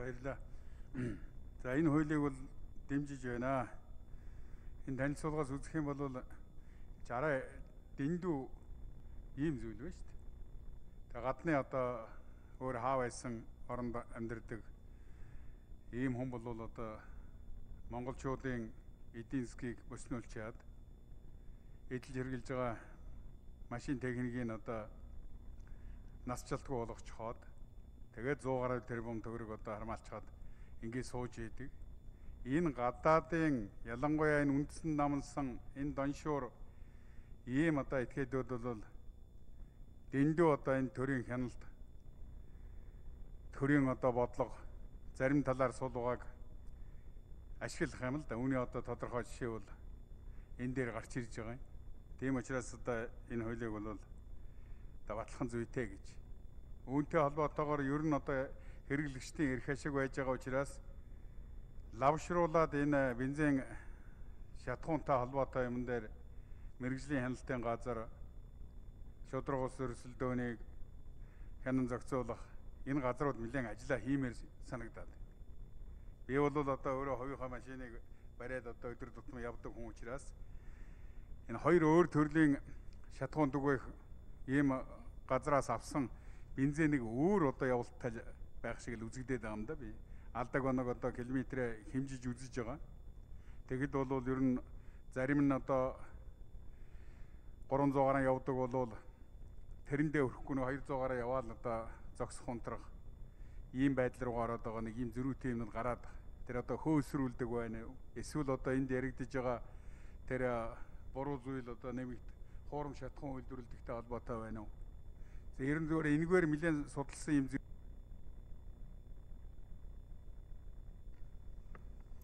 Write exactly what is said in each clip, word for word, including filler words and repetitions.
баярлалаа. За энэ хуулийг бол дэмжиж байна. Энэ танилцуулгаас үзэх юм бол жараа дэндүү ийм зүйл байна шүү дээ. Тэгээ гадны одоо өөр хаа байсан оронд амьдардаг ийм хүн бол одоо монголчуудын эдийн засгийг өснөөлж чад эдэлж хэрглэж байгаа машин техникийн одоо нас чалтгүй болгоч хоод тэгээд сто гаруй тэрбум төгрөг одоо хармаалчаад ингээд сууж идэг. Энэ гадаадын ялангуяа энэ үндэстэн намнсан энэ доншуур ийм одоо этгээдүүд бол дэндүү одоо энэ төрийн хяналт төрийн одоо бодлого зарим талаар суулгааг ашиглах юм л да. Үүний одоо тодорхой жишээ бол энэ дээр гарч ирж байгаа юм. Тийм учраас одоо энэ хуулийг бол батлах зүйтэй гэж. Үүнтэй холбоотойгоор ер нь одоо хэрэглэгчдийн эрх ашиг байж байгаа учраас лавшруулад энэ бензин шатхуунтай холбоотой юм дээр мэргэжлийн хяналтын газар шудраг ус өрсөлдөөнийг хянан зохицуулах энэ газрууд нэлээд ажиллаа хиймээр санагдаад. Би бол одоо өөрөө хувийнхаа машиныг бариад одоо өдөр тутмын явдаг хүн учраас энэ хоёр өөр төрлийн шатхуун дүгэх ийм газраас авсан бензинийг өөр одоо явуултал байх шиг л үзэгдээд байгаа юм да би. Алдаг оног одоо километрээ хэмжиж үзэж байгаа. Тэгэд бол ер нь зарим нь одоо гурамсад гараа явдаг бол тэрэндээ өрөхгүй нөө двести гараа яваал одоо зогсох унтрах ийм байдал руу гараад байгаа нэг ийм зөрүүтэй юмнууд гараад тэр одоо хөөсрүүлдэг байна уу? Эсвэл одоо энд яригдж байгаа тэр буруу зүйл одоо нэмэгт хуурамч шатхуун үйлдвэрлэдэгтэй холбоотой байна уу? За ер нь зөвхөн энэгээр нэлээд судалсан юм.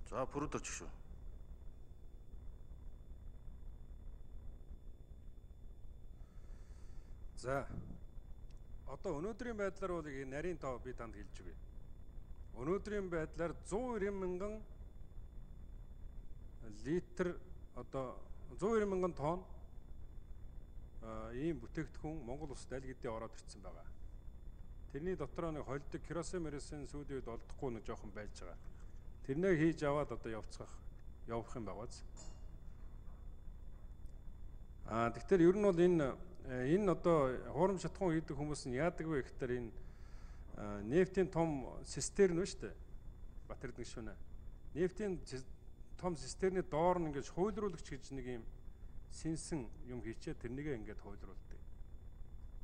За бүрд очих шүү. За одоо өнөөдрийн байдлаар бол энэ нарийн тоо би танд хэлж өгье. Өнөөдрийн байдлаар сто нирван мянган литр одоо сто нирван мянган тонн ийм бүтээгдэхүүн Монгол улсад аль хэдийн ороод ирсэн байгаа. Тэрний дотор нэг холдог керосин мересин сүүлийн үед олдохгүй нэг жоохон байж байгаа. Тэрнээ хийж аваад одоо явцгах явах юм байгааз. Аа тэгэхээр ер нь бол энэ энэ одоо хуурамч шатхуун хийдэг хүмүүс нь яадаг вэ гэхээр энэ нефтийн том цистерн нь шүү дээ. Батэрдэг шүнэ. Нефтийн том цистерны доор нь ингэж хуйлруулагч гэж нэг юм сэнсэн юм хийчээ тэрнийгээ ингээд хуйлруулдаг.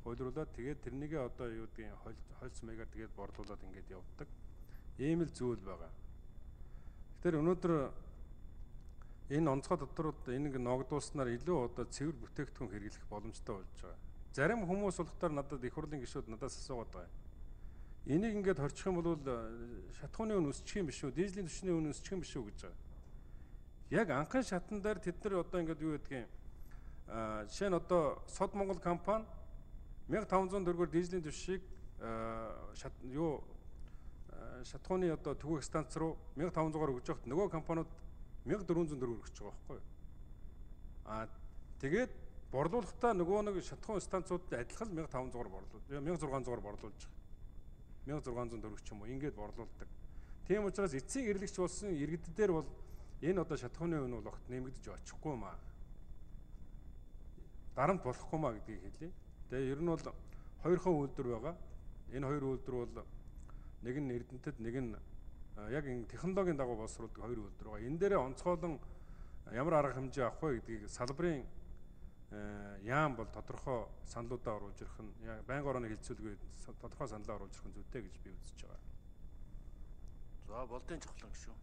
Хуйлруулаад тэгээд тэрнийгээ одоо юу гэдгийг хольц маягаар тэгээд борлуулад ингээд явдаг. Ийм л зүйл байгаа. Тэгэхээр өнөөдөр энэ онцгой доторууд энийг ногдуулснаар илүү одоо цэвэр бүтээгдэхүүн хэрэглэх боломжтой болж байгаа. Зарим хүмүүс болохоор надад их хурлын гишүүд надаас асуугаад байгаа. Энийг ингээд хорчих юм бол шатхууны үн өсчих юм биш үү? Дизелийн түвшний үн өсчих юм биш үү гэж байгаа. Яг анхны шатан дээр тэд нар одоо ингээд юу гэдгийг аа жишээ нь одоо Сод Монгол компани мянга таван зуун төгрөгөөр дизелийн түвшийг шат юу шатхууны одоо түгээх станц руу мянга таван зуунаар өгж явахад нөгөө компаниуд мянга дөрвөн зуун төгрөг өгч байгаа байхгүй юу? Аа тэгээд борлуулалтаа нөгөө нэг шатхуун станцуудад адилхан мянга таван зуунаар борлуул. мянга зургаан зуунаар борлуулж байгаа. мянга зургаан зуун төгрөг ч юм уу ингээд борлуулдаг. Тийм учраас эцсийн хэрэглэгч болсон иргэддээр бол энэ одоо шатхууны үн бол огт нэмэгдэж очихгүй маа. Дарамт болохгүй маа гэдгийг хэлье. Тэгээ ер нь бол хоёрхан үйлдвэр байгаа. Энэ хоёр үйлдвэр бол нэг нь Эрдэнэтэд, нэг нь яг энэ технологийн дагуу боловсруулдаг хоёр үйлдвэр байгаа. Энэ дээрээ онцгойлон ямар арга хэмжээ авах вэ гэдгийг салбарын яам бол тодорхой саналуудаа оруулж ирэх нь байнга орооны хилцүүлгээ тодорхой саналаа оруулж ирэх нь зүйтэй гэж би үзэж байгаа. За болдын чухлан гişүү.